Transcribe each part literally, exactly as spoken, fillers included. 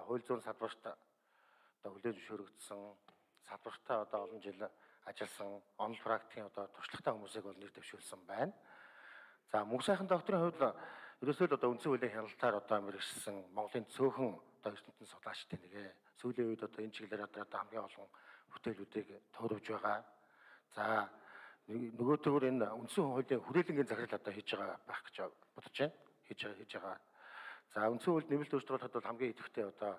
хууль зүйн салбарт одоо хүлээн зөвшөөрөгдсөн салбартаа одоо олон жил ажилласан онл практикийн одоо туршлагатай хүмүүсийг бол нэр дэвшүүлсэн байна. За мөнх сайхан докторийн хувьд ерөөсөө л одоо үндсэн хуулийн хяналтаар одоо мэргэжсэн Монголын цөөхөн одоо ертөнцийн судлаачдын нэгэ сүүлийн үед одоо энэ чиглэлээр одоо хамгийн олон бүтээлүүдийг төвлөрж байгаа. За нөгөө төгөр энэ үндсэн хуулийн хүрээлэнгийн захирал одоо хийж байгаа байх гэж бодож байна. Хийж байгаа хийж байгаа. За үндсэн хуульд нэмэлт өөрчлөлтөд бол хамгийн идэвхтэй одоо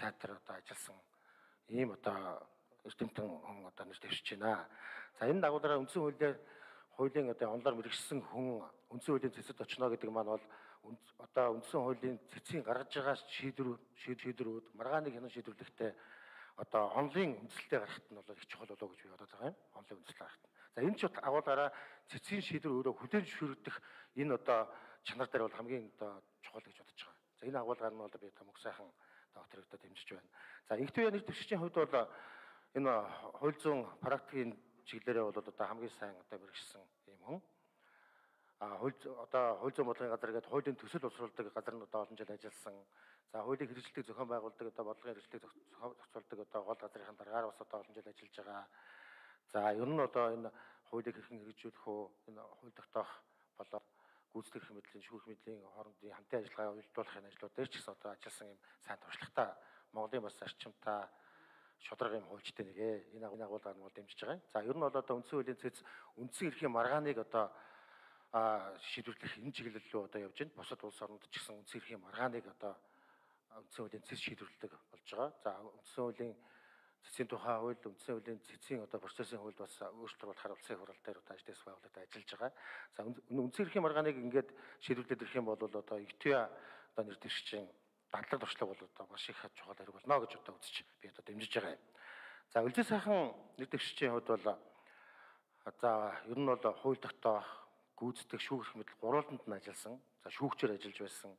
сайтар одоо ажилласан ийм одоо эрдэмтэн хүн одоо нэр дэвшиж байна. За энэ дагуулаараа үндсэн хуулиар хуулийн одоо онлоор мэргэжсэн хүн үндсэн хуулийн цэцэд очно гэдэг маань бол одоо үндсэн хуулийн цэцгийн гаргаж байгаа шийдвэр шийдвэрүүд маргааныг хянан шийдвэрлэхдээ одоо онлын үндэслэлтэй гарахт нь бол их чухал болоо гэж би бодож байгаа юм. Онлын үндэслэл гарахт. За энэ ч агуулгаараа цэцгийн шийдвэр өөрөө хүлээн зөвшөөрөгдөх энэ одоо чанар дээр бол хамгийн одоо чухал гэж бодож байгаа. За энэ агуулгаар нь бол би одоо мөнх сайхан доктортой дэмжиж байна. За инхтэн яны төвшгийн хувьд бол энэ хууль зүйн практикийн чиглэлээр бол одоо хамгийн сайн одоо мэргэжсэн юм хүн. А хууль одоо хууль зүйн бодлогын газар гэдэг хуулийн төсөл боловсруулдаг газар нь одоо олон жил ажилласан. За хуулийн хэрэгжилтийг зохион байгуулдаг одоо бодлогын хэрэгжилтийг зохицуулдаг одоо гол газрын дараагаар бас одоо олон жил ажиллаж байгаа. За ер нь одоо энэ хуулийг хэрхэн хэрэгжүүлэх үү, энэ хууль тогтоох болоод гүйцэтгэх эрх мэдлийн, шүүх мэдлийн хоорондын хамтын ажиллагаа уялдуулахын ажлууд дээр ч гэсэн одоо ажилласан юм сайн туршлагатай Монголын бас зарчимтай шударга юм хуульчтай нэгэ энэ агуулгаар нь бол дэмжиж байгаа. За ер нь бол одоо үндсэн хуулийн цэц үндсэн эрхийн маргааныг одоо шийдвэрлэх энэ чиглэл рүү одоо явж байна. Бусад улс орнууд ч гэсэн үндсэн эрхийн маргааныг одоо үндсэн хуулийн цэц шийдвэрлэдэг болж байгаа. За үндсэн хуулийн цэцгийн тухай хууль, үндсэн хуулийн цэцгийн одоо процессын хуульд бас өөрчлөлт болох улсын хурал дээр одоо ажлын байгууллагад ажиллаж байгаа. За үндсэн эрхийн маргааныг ингээд шийдвэрлээд ирэх юм бол одоо ИТВ одоо нэр дэвшчин дадлаг туршлага бол одоо маш их чухал хэрэг болно гэж одоо үзэж би одоо дэмжиж байгаа юм. За үлзий сайхан нэр дэвшчин хувьд бол за ер нь бол хууль тогтоох, гүйцэтгэх, шүүх эрх мэдэл гурвуултанд нь ажилласан. За шүүгчээр ажиллаж байсан.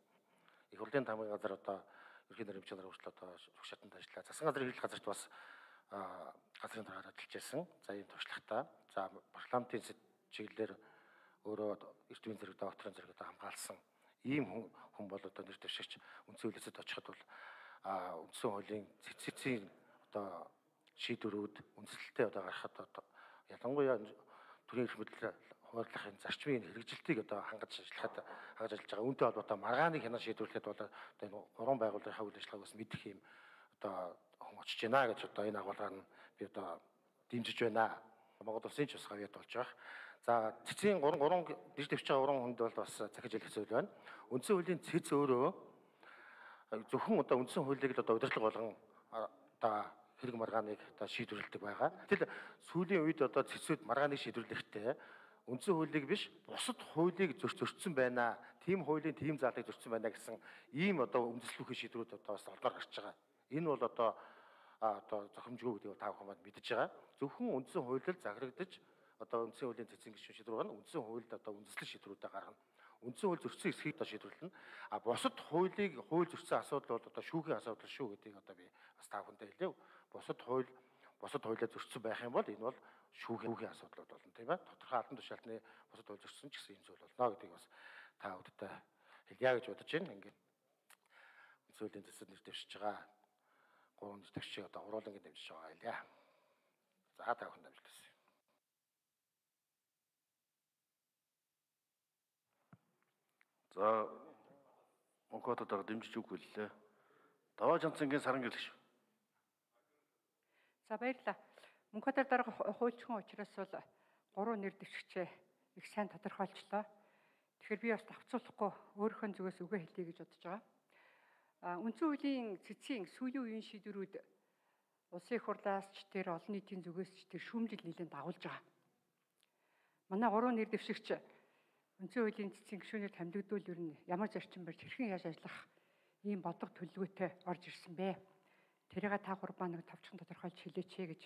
Их хурлын тамгын газар одоо ерхий нэрийн хэмжээгээр хүртэл одоо шүүх шатанд ажиллаа. Засгийн газрын хэрэглэх газарт бас газрын дараагаар ажиллаж байсан. За ийм туршлагатай. За парламентын чиглэлээр өөрөө эрт үеийн зэрэг докторийн зэрэг одоо хамгаалсан ийм хүн бол одоо нэр дэвшигч үндсэн хуулиэд очиход бол үндсэн хуулийн цэцгийн одоо шийдвэрүүд үндэслэлтэй одоо гарахад одоо ялангуяа төрийн эрх мэдэл хуурлахын зарчмын хэрэгжилтийг одоо хангаж ажиллахад хангаж ажиллаж байгаа. Үүнтэй холбоотой маргааныг хянан шийдвэрлэхэд бол одоо энэ гурван байгууллагын үйл ажиллагааг бас мэдэх юм одоо хүн очиж байна гэж одоо энэ агуулгаар нь би одоо дэмжиж байна. Монгол улсын ч бас хавьяд болж байгаа. За цэцгийн гурван гурван дэж дэвч байгаа гурван хүнд бол бас захиж хэлэх зүйл байна. Үндсэн хуулийн цэц өөрөө зөвхөн одоо үндсэн хуулийг л одоо удирдлага болгон одоо хэрэг маргааныг одоо шийдвэрлэдэг байгаа. Гэтэл сүүлийн үед одоо цэцүүд маргааныг шийдвэрлэхдээ үндсэн хуулийг биш бусад хуулийг зөрчсөн байна. Тим хуулийн тим заалыг зөрчсөн байна гэсэн ийм одоо үндэслэхүйн шийдвэрүүд одоо бас олдоор гарч байгаа. Энэ бол одоо одоо зохимжгүй гэдгийг та бүхэн маань мэдж байгаа. Зөвхөн үндсэн хуулиар захирагдаж одоо үндсэн хуулийн цэцгийн гишүүн шийдвэр гарна. Үндсэн хуульд одоо үндэслэл шийдвэрүүдээ гаргана. Үндсэн хууль зөрчсөн эсхийг одоо шийдвэрлэнэ. А бусад хуулийг хууль зөрчсөн асуудал бол одоо шүүхийн асуудал шүү гэдгийг одоо би бас та бүхэндээ хэлье. Бусад хууль бусад хуулиар зөрчсөн байх юм бол энэ бол шүүхийн асуудлууд болно тийм ээ. Тодорхой албан тушаалтны бусад хууль зөрчсөн ч гэсэн юм зүйл болно гэдгийг бас та бүхэндээ хэлье гэж бодож байна. Ингээд үндсэн хуулийн цэцэд нэр дэвшиж байгаа. Гурван нэр дэвшиг одоо уруулангийн дэмжиж байгаа юм яа. За та бүхэнд амжилт. За Монголоор дэмжиж үгүй лээ. Даваа Жанцангийн саран гэлэгш. За баярлалаа. Монголоор дарга хуульчхан учраас бол гурван нэр дэвшигчээ их сайн тодорхойлчлоо. Тэгэхээр би бас давцуулахгүй өөрийнхөө зүгээс үгээ хэлье гэж бодож байгаа. А үндсэн хуулийн цэцгийн сүүлийн үеийн шийдвэрүүд улсын их хурлаас ч тэр олон нийтийн зүгээс ч тэр шүүмжил нэлээд дагуулж байгаа. Манай гурван нэр дэвшигч үндсэн хуулийн цэцгийн гишүүнээр томилогдвол ер нь ямар зарчим барьж хэрхэн яаж ажиллах ийм бодлого төлөвлөгөөтэй орж ирсэн бэ? Тэрийг та гурван нэг тавчхан тодорхойлж хэлээч гэж